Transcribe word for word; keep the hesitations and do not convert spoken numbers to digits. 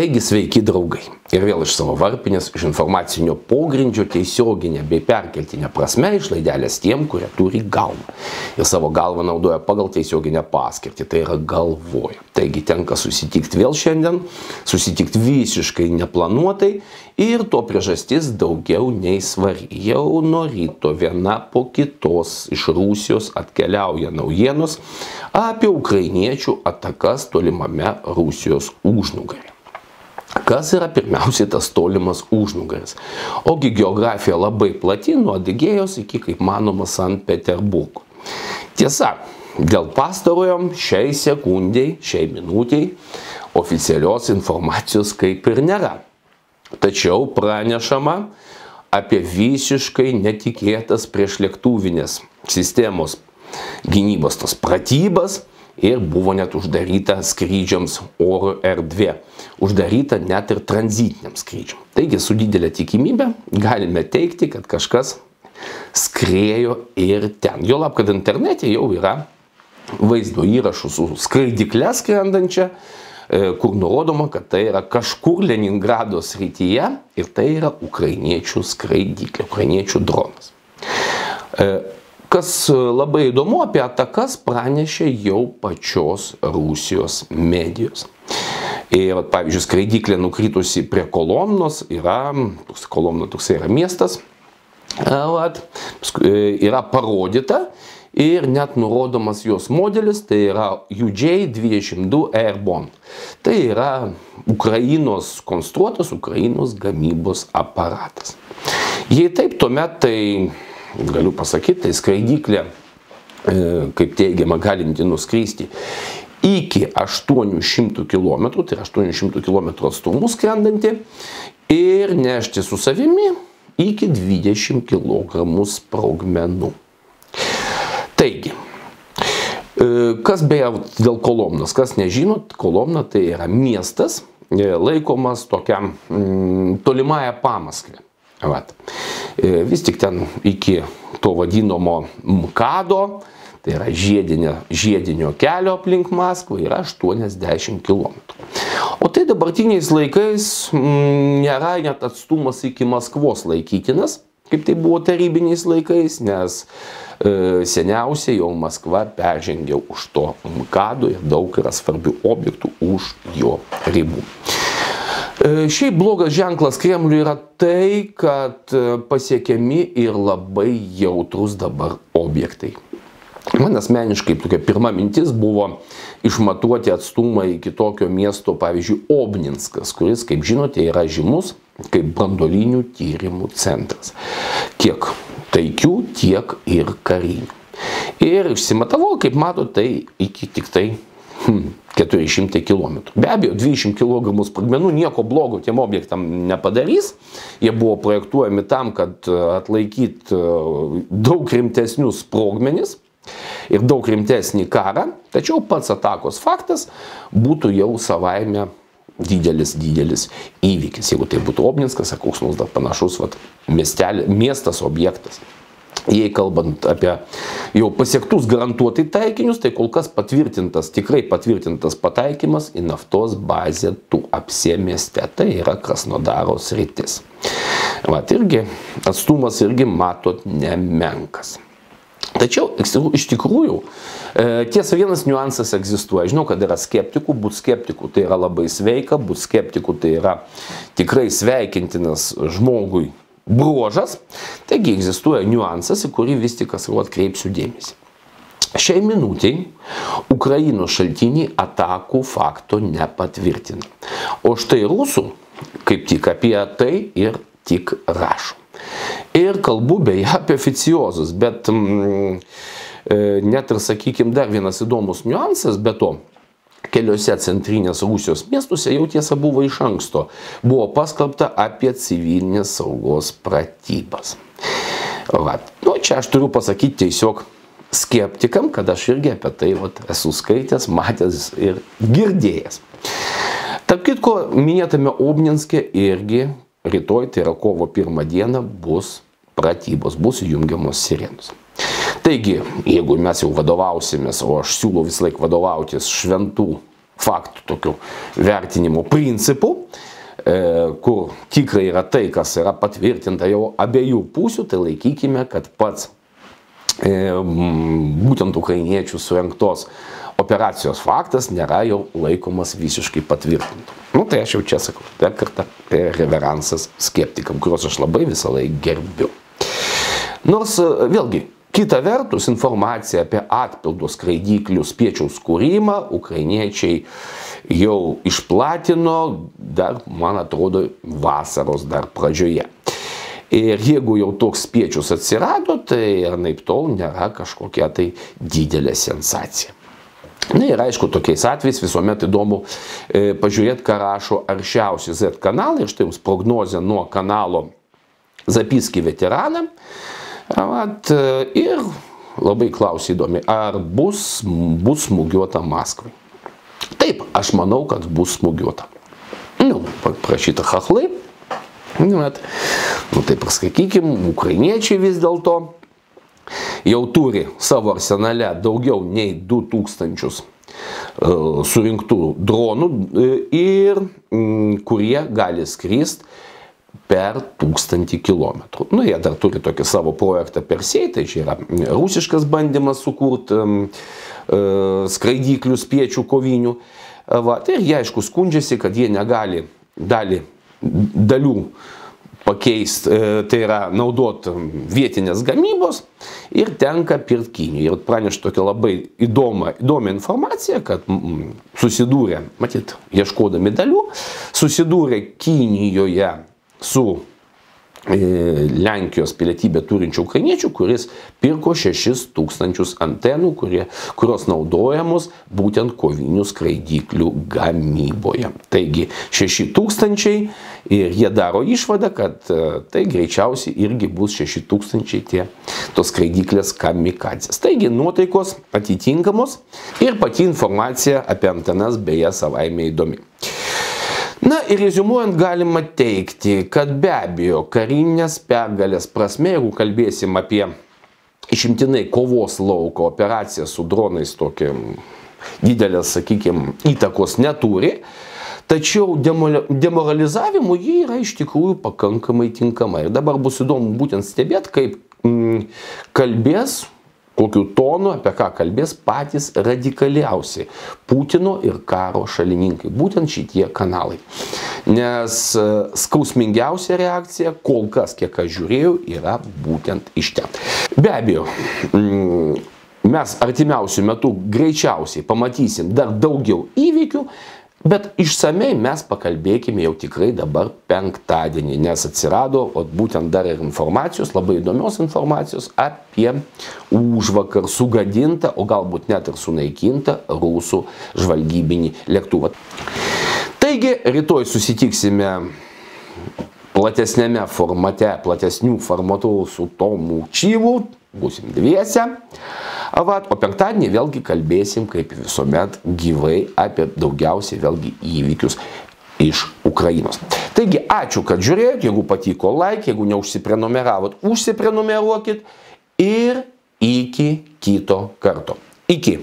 Taigi sveiki draugai. Ir vėl iš savo varpinės, iš informacinio pogrindžio tiesioginė bei perkeltinė prasme išlaidelės tiem, kurie turi galvą. Ir savo galvą naudoja pagal tiesioginę paskirtį, tai yra galvoja. Taigi tenka susitikti vėl šiandien, susitikti visiškai neplanuotai ir to priežastis daugiau nei svari. Jau nuo ryto viena po kitos iš Rusijos atkeliauja naujienos apie ukrainiečių atakas tolimame Rusijos užnugaryje. Kas yra pirmiausiai tas tolimas užnugaris? Ogi geografija labai plati, nuo Adygėjos iki, kaip manoma, Sankt Peterburgo. Tiesa, dėl pastarojo šiai sekundžiai, šiai minutiai oficialios informacijos kaip ir nėra. Tačiau pranešama apie visiškai netikėtas priešlėktuvinės sistemos gynybos tos pratybas. Ir buvo net uždaryta skrydžiams oro erdvė. Uždaryta net ir tranzitiniam skrydžiam. Taigi su didelė tikimybė galime teikti, kad kažkas skrėjo ir ten. Juolab, kad internete jau yra vaizdo įrašų su skraidykle skrendančia, kur nurodoma, kad tai yra kažkur Leningrado srityje ir tai yra ukrainiečių skraidyklė, ukrainiečių dronas. Kas labai įdomu, apie atakas pranešė jau pačios Rusijos medijos. Ir, pavyzdžiui, skraidyklė nukritusi prie Kolomnos yra, Kolomna toksai yra miestas, vat, yra parodyta ir net nurodomas jos modelis, tai yra U J dvidešimt du Airborne. Tai yra Ukrainos konstruotas, Ukrainos gamybos aparatas. Jei taip, tuomet tai galiu pasakyti, tai skraidyklė, kaip teigiama, galinti nuskristi iki aštuonių šimtų kilometrų, tai yra aštuonių šimtų kilometrų atstumų skrendanti ir nešti su savimi iki dvidešimt kilogramų sprogmenų. Taigi, kas beje dėl Kolomnos, kas nežinot, Kolomna tai yra miestas, laikomas tokiam tolimąją Pamaskvę. Vat. Vis tik ten iki to vadinamo MKADo, tai yra žiedinio, žiedinio kelio aplink Maskvą, yra aštuoniasdešimt kilometrų. O tai dabartiniais laikais m, nėra net atstumas iki Maskvos laikytinas, kaip tai buvo tarybiniais laikais, nes e, seniausiai jau Maskva peržengė už to MKADo ir daug yra svarbių objektų už jo ribų. Šiaip blogas ženklas Kremliui yra tai, kad pasiekiami ir labai jautrus dabar objektai. Man asmeniškai tokia pirma mintis buvo išmatuoti atstumą iki tokio miesto, pavyzdžiui, Obninskas, kuris, kaip žinote, yra žymus kaip branduolinių tyrimų centras. Kiek taikių, tiek ir karinių. Ir išsimatavau, kaip matote, tai iki tik tai Hmm, keturi šimtai kilometrų. Be abejo, dvidešimt kilogramų sprogmenų nieko blogo tiem objektam nepadarys. Jie buvo projektuojami tam, kad atlaikytų daug rimtesnius sprogmenis ir daug rimtesnį karą. Tačiau pats atakos faktas būtų jau savaime didelis, didelis įvykis. Jeigu tai būtų Obninskas, ar koks nors dar panašus vat, miestelė, miestas, objektas. Jei kalbant apie jau pasiektus garantuotai taikinius, tai kol kas patvirtintas, tikrai patvirtintas pataikymas į naftos bazę Tuapse mieste. Tai yra Krasnodaro sritis. Vat irgi atstumas irgi matot nemenkas. Tačiau iš tikrųjų, tiesa, vienas niuansas egzistuoja. Žinau, kad yra skeptikų, būt skeptikų tai yra labai sveika, būt skeptikų tai yra tikrai sveikintinas žmogui bruožas, taigi egzistuoja niuansas, į kurį vis tik atkreipsiu dėmesį. Šiai minutiai Ukrainos šaltiniai atakų fakto nepatvirtina. O štai rusų kaip tik apie tai ir tik rašo. Ir kalbu beje apie oficiozus, bet mm, net ir, sakykime, dar vienas įdomus niuansas, be to, keliose centrinės Rusijos miestuose jau tiesa buvo iš anksto. Buvo paskelbta apie civilinės saugos pratybas. Vat. Nu, čia aš turiu pasakyti tiesiog skeptikam, kad aš irgi apie tai vat, esu skaitęs, matęs ir girdėjęs. Tarp kitko, minėtame Obninske irgi rytoj, tai yra kovo pirmą dieną, bus pratybos, bus jungiamos sirenos. Taigi, jeigu mes jau vadovausimės, o aš siūlau vis laik vadovautis šventų faktų tokių vertinimo principų, kur tikrai yra tai, kas yra patvirtinta jau abiejų pusių, tai laikykime, kad pats būtent ukrainiečių surengtos operacijos faktas nėra jau laikomas visiškai patvirtintų. Nu, tai aš jau čia sakau, dar kartą reveransas skeptikam, kuriuos aš labai visą laiką gerbiu. Nors vėlgi, kita vertus, informacija apie atpildo skraidyklių spiečiaus kūrimą ukrainiečiai jau išplatino dar, man atrodo, vasaros dar pradžioje. Ir jeigu jau toks spiečius atsirado, tai anaip tol nėra kažkokia tai didelė sensacija. Na ir aišku, tokiais atvejais visuomet įdomu e, pažiūrėti, ką rašo aršiausi Z kanalai. Ir štai jums prognozė nuo kanalo Zapiski veteranam. At, ir labai klausia įdomi, ar bus, bus smūgiuota Maskvai. Taip, aš manau, kad bus smūgiuota. Nu, prašyta chachlai. Nu, nu tai pasakykim, ukrainiečiai vis dėlto jau turi savo arsenale daugiau nei du tūkstančius uh, surinktų dronų uh, ir um, kurie gali skrist per tūkstantį kilometrų. Nu, jie dar turi tokį savo projektą Persei, tai čia yra rusiškas bandymas sukurti um, uh, skraidyklių spiečių kovinių. Uh, va, tai jie aišku skundžiasi, kad jie negali dalį dalių pakeisti, tai yra naudoti vietinės gamybos ir tenka pirkti Kinijoje. Ir pranešti tokią labai įdomą, įdomią informaciją, kad mm, susidūrė, matyt, ieškodami dalių, susidūrė Kinijoje su e, Lenkijos pilietybę turinčių ukrainiečių, kuris pirko šešis tūkstančius antenų, kurie, kurios naudojamos būtent kovinių skraidyklių gamyboje. Taigi šeši tūkstančiai ir jie daro išvadą, kad tai greičiausiai irgi bus šeši tūkstančiai tie tos skraidyklės kamikadzės. Taigi nuotaikos atitinkamos ir pati informacija apie antenas beje savaime įdomi. Na ir reziumuojant galima teigti, kad be abejo karinės pergalės prasme, jeigu kalbėsim apie išimtinai kovos lauko operaciją su dronais, tokia didelės, sakykime, įtakos neturi, tačiau demoralizavimu ji yra iš tikrųjų pakankamai tinkama. Ir dabar bus įdomu būtent stebėti, kaip mm, kalbės, kokiu tonu, apie ką kalbės patys radikaliausi Putino ir karo šalininkai, būtent šitie kanalai. Nes skausmingiausia reakcija, kol kas, kiek aš žiūrėjau, yra būtent iš ten. Be abejo, mes artimiausių metų greičiausiai pamatysim dar daugiau įvykių, bet išsamei mes pakalbėkime jau tikrai dabar penktadienį, nes atsirado o, būtent dar ir informacijos, labai įdomios informacijos apie užvakar sugadintą, o galbūt net ir sunaikintą rusų žvalgybinį lėktuvą. Taigi, rytoj susitiksime platesnėme formate, platesnių formatų su Tomu Čyvu, būsim dviese. Avat, o penktadienį vėlgi kalbėsim, kaip visuomet, gyvai apie daugiausiai vėlgi įvykius iš Ukrainos. Taigi, ačiū, kad žiūrėjot, jeigu patiko like, jeigu neužsiprenumeravot, užsiprenumeruokit ir iki kito karto. Iki.